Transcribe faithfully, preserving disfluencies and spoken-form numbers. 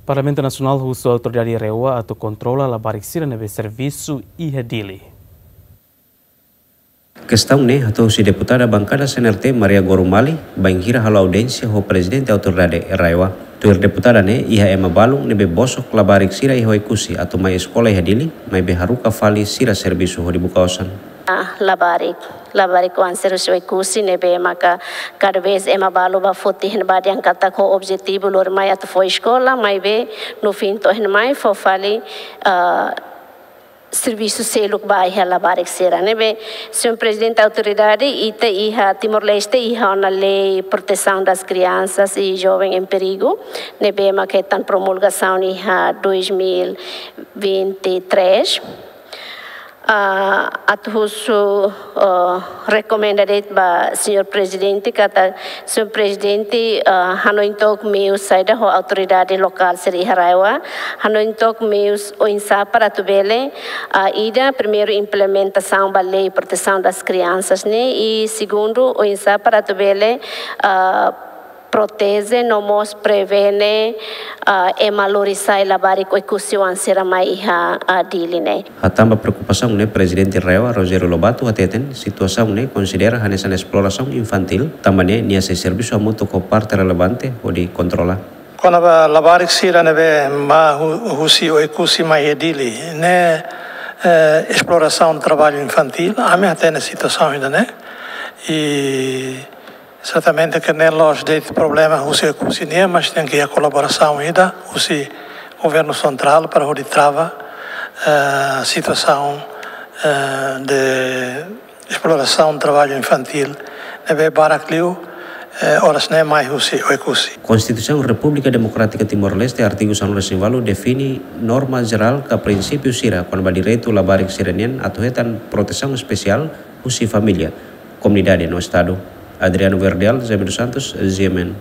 Parlamentu Nasionál husu autoridade RAEOA atu kontrola labarik sira ne'ebé servisu iha Dili. Kestaun ne'e hato'o husi deputada bankada C N R T Maria Gorumali, bainhira halo audiénsia ho prezidente autoridade RAEOA. Tuir deputada ne'e, iha ema balun ne'ebé bosok labarik sira iha Oekusi atu mai eskola iha Dili, maibé haruka fali sira servisu hodi buka osan. Ah, labarik, labarik oan sira husi Oekusi ne'ebé maka kada vez ema balu bá foti iha ne'ebá dehan katak ho objetivu lori mai atu fó eskola, maibé no fim to'o iha ne'e mai fó fali, ah, servisu seluk ba iha labarik sira ne'ebé. Señór Prezidente Autoridade, ita iha Timor-Leste iha ona Lei Proteção das Crianças e Jovem em Perigo ne'ebé maka hetan promulgasaun iha dois mil vinte e três. Ah, atu husu, ah, rekomenda de'it ba Señór Prezidente katak Señór Prezidente, ah, hanoin took meius saida ho autoridade lokál sira iha RAEOA, hanoin took meius oinsá para atu bele, ah, ida, primeiru, implementasaun ba Lei Proteção das Crianças ne'e, i segundu, oinsá para atu bele, ah, proteje no mós prevene, ah, ema lori sai labarik Oekusi oan sira mai iha, ah, Dili ne'e. Hatán ba preokupasaun ne'e, Prezidente RAEOA Rogério Lobato hateten, situasaun ne'e konsidera hanesan esplorasaun infantíl, tanba ne'e nia sei servisu hamutuk ho parte relevante hodi kontrola. Kona-ba labarik sira ne'ebé mai hu-, husi Oekusi mai iha Dili ne'e, eh, esplorasaun traballu infantíl, ami hatene situasaun ida-ne'e. I sertamente ke ne'e la'ós de'it problema husi Oekusi nian, mas tenke iha kolaborasaun ida husi governu sentrál para hodi trava, eh, situasaun, eh, de esplorasaun traballu infantíl ne'ebé barak liu, eh, oras ne'e mai husi Oekusi. Konstituisaun Repúblika Demokrátika Timor-Leste, artigu sanulu-resin-ualu define norma jerál ka prinsípiu sira kona-ba direitu labarik sira-nian atu hetan protesaun espesiál husi família, komunidade no Estadu. Adriano Verdial, Jaime dos Santos, G M N.